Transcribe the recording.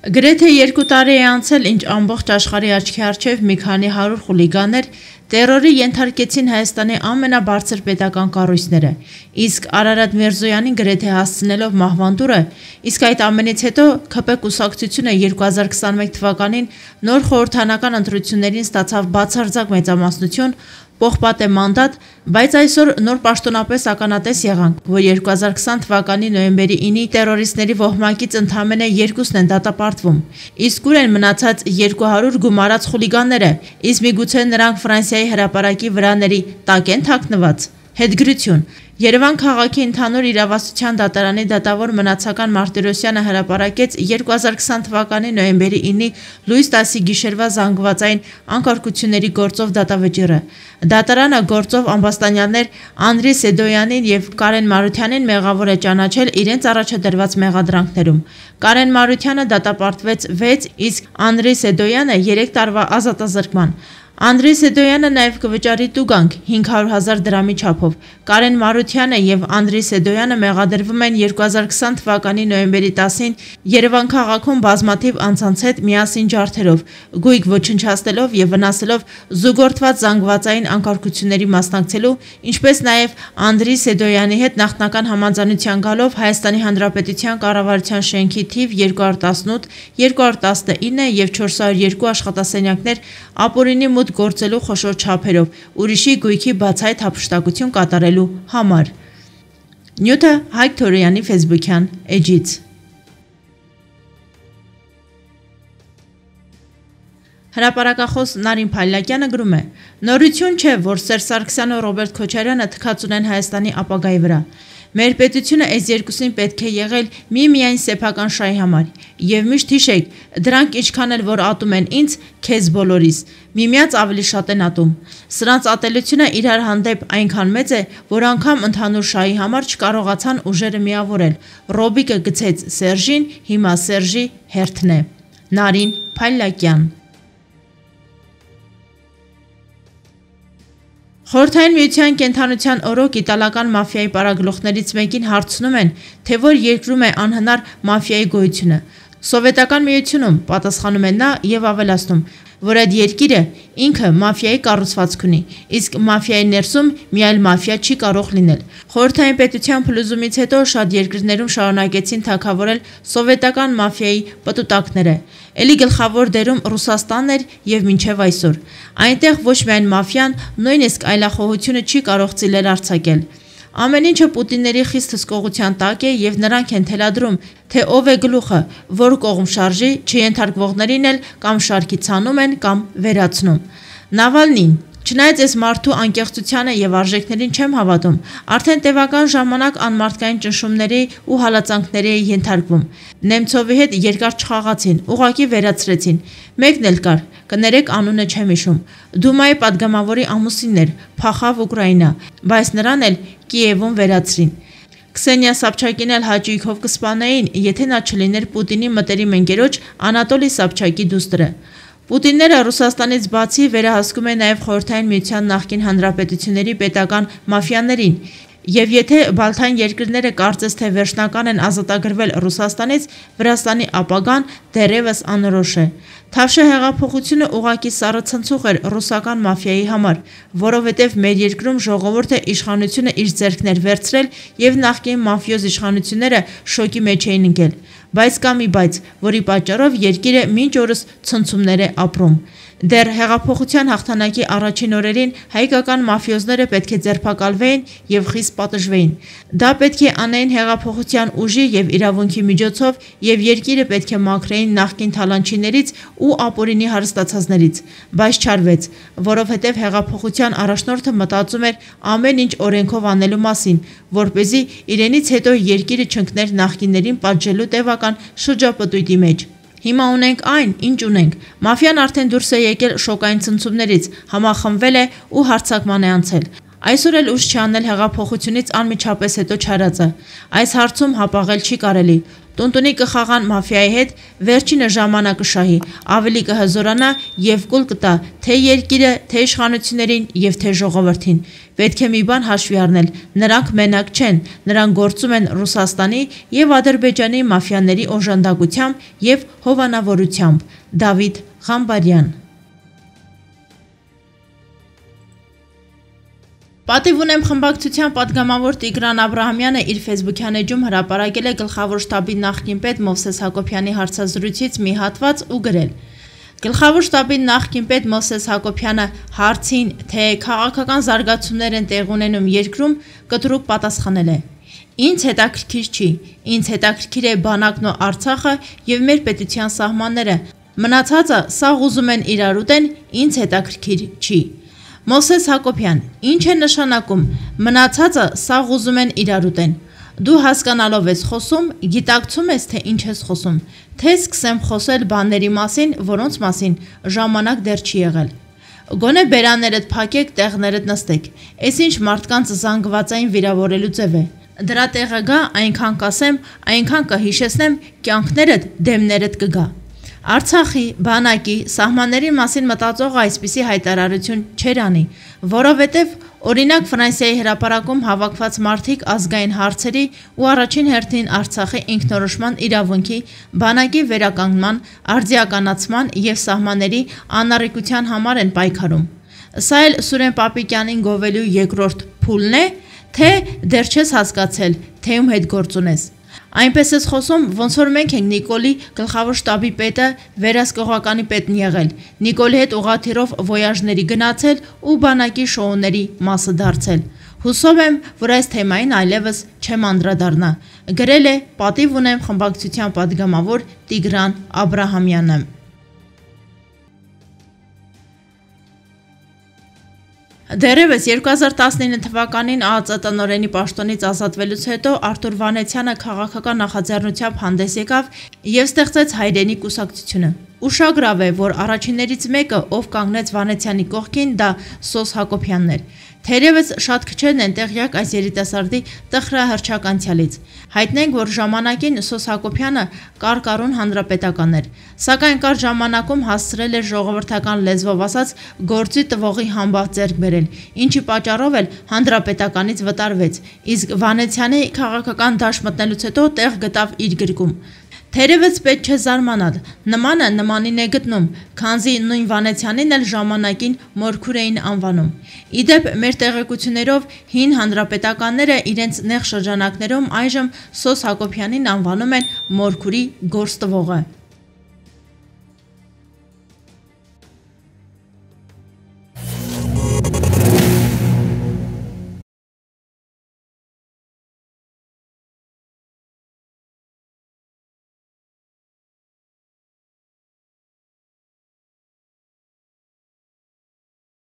Գրեթե 2 տարի է անցել, ինչ ամբողջ աշխարհի աչքի առջև մի քանի 100 խուլիգաններ տերորի ենթարկեցին Հայաստանի ամենաբարձր պետական կառույցները, իսկ Արարատ Միրզոյանին գրեթե հասցնելով մահվան դուրը, իսկ այդ ամենից հետո ՔՊ կուսակցությունը 2021 թվականին նոր խորհրդանական ընտրություններին ստացավ բացարձակ մեծամասնություն, պողպատե մանդատ, բայց այսօր նոր պաշտոնապես ականատես եղանք, որ 2020 թվականի նոյեմբերի 9-ի տերորիստների ոհմակից ընդամենը 2-ն են դատապարտվում, իսկ ուր են մնացած 200 գումարած խուլիգանները, իսկ միգուցե նրանք Ֆրանսիայի հրապարակի վրաների տակ են թաքնված։ Հետգրություն. Երևան քաղաքի ընդհանուր իրավասության դատարանի դատավոր Մնացական Մարտիրոսյանը հրապարակեց 2020 թվականի նոյեմբերի 9-ի լույս 10-ի գիշերվա զանգվածային անկարգությունների գործով դատավճիռը։ Դատարանը գործով ամբաստանյալներ Անդրի Սեդոյանին եւ Կարեն Մարությանին մեղավոր է ճանաչել իրենց առաջադրված մեղադրանքներում։ Կարեն Մարությանը դատապարտվեց 6, իսկ Անդրի Սեդոյանը 3 տարվա ազատազրկման։ Անդրի Սեդոյանը նաև կվճարի տուգանք 500,000 դրամի չափով։ Կարեն Մարությանը եւ Անդրի Սեդոյանը մեղադրվում են 2020 թվականի նոյեմբերի 10-ին Երևան քաղաքում բազմաթիվ անձանց հետ միասին ջարդերով, գույք ոչնչացնելով եւ վնասելով զուգորդված զանգվածային անկարգությունների մասնակցելու, ինչպես նաև Անդրի Սեդոյանի հետ նախնական համաձայնության գալով Հայաստանի Հանրապետության կառավարության շենքի թիվ 218, 219 եւ 402 աշխատասենյակներ ապօրինի մուտք գործելու խոշոր չափերով, ուրիշի գույքի բացահայտ հափշտակություն կատարելու համար։ Նյութը Հայկ Թորոյանի ֆեյսբուքյան էջից։ Հրապարակախոս Նարին Փայլակյանը գրում է. Նորություն չէ, որ Սերժ Սարգսյանը ու Ռոբերտ Քոչարյանը թքած ունեն Հայաստանի ապագայի վրա։ Մեր պետությունը այս երկուսին պետք է եղել միայն սեփական շահի համար։ Եվ միշտ հիշեք, դրանք ինչքան էլ որ ատում են ինձ, քեզ բոլորիս, միմյանց ավելի շատ են ատում։ Սրանց ատելությունը իրար հանդեպ այնքան մեծ է, որ անգամ ընդհանուր շահի համար չկարողացան ուժերը միավորել։ Ռոբիկը գցեց Սերժին, հիմա Սերժի հերթն է։ Նարին Փայլակյան։ Խորհրդային միության կենթանության օրոք իտալական մաֆիայի պարագլուխներից մեկին հարցնում են, թե որ երկրում է անհնար մաֆիայի գոյությունը։ Սովետական միությունում, պատասխանում է նա եւ ավելացնում, որ այդ երկիրը ինքը մաֆիայի կառուցվածք ունի, իսկ մաֆիայի ներսում մի այլ մաֆիա չի կարող լինել։ Խորհրդային պետության փլուզումից հետո շատ երկրներում շարունակեցին թագավորել սովետական մաֆիայի պտուտակները։ Էլի գլխավոր դերում Ռուսաստանն էր եւ մինչեւ այսօր։ Այնտեղ ոչ միայն մաֆիան, նույնիսկ այլախոհությունը չի կարող ծիլեր արձակել։ Ամեն ինչը Պուտինների խիստ հսկողության տակ է եւ նրանք են թելադրում, թե ով է գլուխը, որ կողմ շարժի, չենթարկվողներին էլ կամ շարքի ցանում են կամ վերացնում։ Նավալնին, չնայած այս մարդու անկեղծությանը եւ արժեքներին չեմ հավատում, արդեն տևական ժամանակ անմարդկային ճնշումների ու հալածանքների է ենթարկվում։ Նեմցովի հետ երկար չխաղացին, ուղղակի վերացրեցին։ Մեկն էլ կար, կներեք անունը չեմ հիշում։ Դումայի падգամավորի ամուսինն էր, փախավ Ուկրաինա, բայց նրան էլ Կիևում վերացրին։ Քսենիա Սաբչակին էլ հաճույքով կսպանեին, եթե նա չլիներ Պուտինի մտերիմ ընկերոջ Անատոլի Սաբչակի դուստրը։ Պուտինները Ռուսաստանից բացի վերահսկում են նաև Խորհրդային միության նախկին հանրապետությունների պետական մաֆիաներին, եւ եթե Բալթյան երկրները կարծես թե վերջնական են ազատագրվել Ռուսաստանից, Վրաստանի ապագան դեռևս անորոշ է։ Թավշե հեղափոխությունը ուղղակի սառը ցնցուղ էր ռուսական մաֆիայի համար, որովհետև մեր երկրում ժողովուրդը իշխանությունը իր ձեռքներ վերցրել եւ նախկին մաֆիոզ իշխանությունները շոկի մեջ էին ընկել։ Բայց կա մի բայց, որի պատճառով երկիրը մինչ օրս ցնցումներ է ապրում։ Դեռ հեղափոխության հաղթանակի առաջին օրերին հայկական մաֆիոզները պետք է ձերբակալվեին եւ խիստ պատժվեին։ Դա պետք է անեին հեղափոխության ուժի եւ իրավունքի միջոցով եւ երկիրը պետք է մաքրեին նախկին թալանչիներից ու ապօրինի հարստացածներից, բայց չարվեց, որովհետև հեղափոխության առաջնորդը մտածում էր ամեն ինչ օրենքով անելու մասին, որպեսզի իրենից հետո երկիրը չընկներ նախկիններին պատժելու տևական շրջապտույտի մեջ։ Հիմա ունենք այն, ինչ ունենք։ Մաֆիան արդեն դուրս է եկել շոկային ցնցումներից, համախմբվել է ու հարձակման է անցել։ Այսօր էլ ուշ չի անել հեղափոխությունից անմիջապես հետո չարածը։ Այս հարցում հապաղել չի կարելի։ Տունտունի կխաղան մաֆիայի հետ, վերջինը ժամանակը շահի, ավելի կհզորանա և կուլ կտա թե երկիրը, թե իշխանություններին և թե ժողովրդին։ Պետք է մի բան հաշվի առնել, նրանք մենակ չեն, նրանք գործում են Ռուսաստանի և Ադրբեջանի մաֆիաների օժանդակությամբ և հովանավորությամբ։ Դավիթ Ղամբարյան։ Պատիվ ունեմ խմբակցության պատգամավոր Տիգրան Աբրահամյանը իր ֆեյսբուքյան էջում հրապարակել է գլխավոր շտաբի նախկին պետ Մովսես Հակոբյանի հարցազրույցից մի հատված ու գրել. Գլխավոր շտաբի նախկին պետ Մովսես Հակոբյանը հարցին, թե քաղաքական զարգացումներ են տեղ ունենում երկրում, կտրուկ պատասխանել է. Ինձ հետաքրքիր չի, ինձ հետաքրքիր է բանակն ու Արցախը և մեր պետության սահմանները, մնացածը սաղ ուզում են իրար ուտեն, ինձ հետաքրքիր չի։ Մովսես Հակոբյան, ինչ է նշանակում, մնացածը սաղ ուզում են իրար ուտեն։ Դու հասկանալով ես խոսում, գիտակցում ես, թե ինչ ես խոսում, թե սկսեմ խոսել բաների մասին, որոնց մասին ժամանակ դեռ չի եղել։ Գոնե բերաններդ փակեք, տեղներդ նստեք, էս ինչ մարդկանց զանգվածային վիրավորելու ձև է։ Դրա տեղը գա, այնքան կասեմ, այնքան կհիշեցնեմ, կյանքներդ, դեմներդ կգա։ Արցախի, բանակի, սահմանների մասին մտածողը այսպիսի հայտարարություն չեր անի, որովհետև օրինակ Ֆրանսիայի հրապարակում հավաքված մարդիկ ազգային հարցերի ու առաջին հերթին Արցախի ինքնորոշման իրավունքի, բանակի վերականգնման, արդիականացման և սահմանների անառիկության համար են պայքարում։ Սա էլ Սուրեն Պապիկյանին գովելու երկրորդ փուլն է, թե դեռ չես հասկացել, թե ում հետ գործ ունես։ Այնպես ես խոսում, ոնց որ մենք ենք Նիկոլի գլխավոր շտաբի պետը վերահսկողականի պետն եղել, Նիկոլի հետ ուղղաթիռով վոյաժների գնացել ու բանակի շոուների մասը դարձել։ Հուսով եմ, որ այս թեմային այլևս չեմ անդրադառնա, գրել է Պատիվ ունեմ խմբակցության պատգամավոր Տիգրան Աբրահամյանը։ Դեռևս 2019 թվականին ԱԱԾ տնօրենի պաշտոնից ազատվելուց հետո Արթուր Վանեցյանը քաղաքական նախաձեռնությամբ հանդես եկավ և ստեղծեց Հայրենի կուսակցությունը։ Ուշագրավ է, որ առաջիններից մեկը, ով կանգնեց Վանեցյանի կողքին, դա Սոս Հակոբյանն էր։ Թերևս շատ քչերն են տեղյակ այս երիտասարդի տխրահռչակ անցյալից։ Հայտնենք, որ ժամանակին Սոս Հակոբյանը կարկառուն հանրապետական էր, սակայն կարճ ժամանակում հասցրել էր ժողովրդական լեզվով ասած գործի տվողի համբավ ձեռք բերել, ինչի պատճառով էլ հանրապետականից վտարվեց, իսկ Վանեցյանի քաղաքական դաշտ մտնելուց հետո տեղ գտավ իր գրկում։ Թերևս պետք չէ զարմանալ, նմանը նմանին է գտնում, քանզի նույն Վանեցյանին էլ ժամանակին Մորքուր էին անվանում։ Իդեպ մեր տեղեկություններով հին հանրապետականները իրենց նեղ շրջանակներում այժմ Սոս Հակոբյանին անվանում են Մորքուրի գործ տվողը։